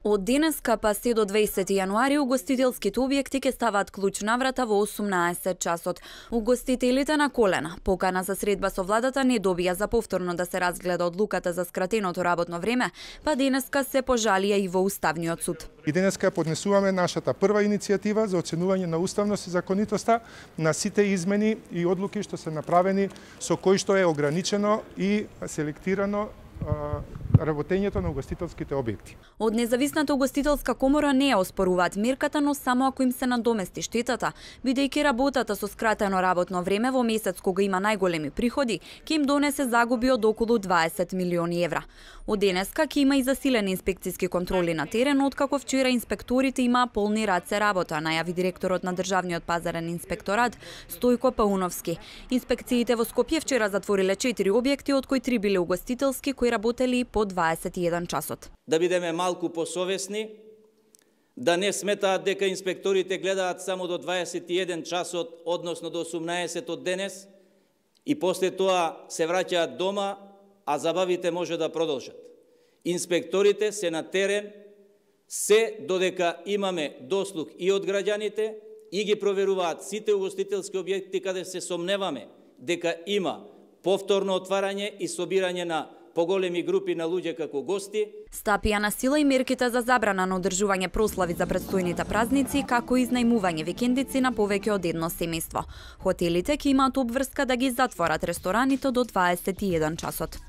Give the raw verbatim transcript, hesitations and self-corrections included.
Од денеска па се до дваесети јануари угостителските објекти ќе ставаат клуч на врата во осумнаесет часот. Угостителите на колена покана за средба со владата не добија за повторно да се разгледа одлуката за скратеното работно време, па денеска се пожалија и во Уставниот суд. И денеска поднесуваме нашата прва иницијатива за оценување на уставност и законитоста на сите измени и одлуки што се направени со кои што е ограничено и селектирано работењето на угостителските објекти. Од Независната угостителска комора не ја оспоруваат мерката, но само ако им се надомести штетата, бидејќи работата со скратено работно време во месец кога има најголеми приходи, ќе им донесе загуби од околу дваесет милиони евра. Од денеска ќе има и засилени инспекциски контроли на терен, откако вчера инспекторите имаа полни раце работа, најави директорот на Државниот пазарен инспекторат Стојко Пауновски. Инспекциите во Скопје вчера затвориле четири објекти, од кои три биле угостителски, кои работели по дваесет и еден часот. Да бидеме малку посовесни, да не сметаат дека инспекторите гледаат само до дваесет и еден часот, односно до осумнаесет од денес, и после тоа се враќаат дома, а забавите може да продолжат. Инспекторите се на терен, се додека имаме дослух и од граѓаните, и ги проверуваат сите угостителски објекти каде се сомневаме дека има повторно отварање и собирање на поголеми групи на луѓе како гости. Стапија на сила и мерките за забрана на одржување прослави за предстојните празници, како и изнајмување викендици на повеќе од едно семејство. Хотелите ќе имаат обврска да ги затворат рестораните до дваесет и еден часот.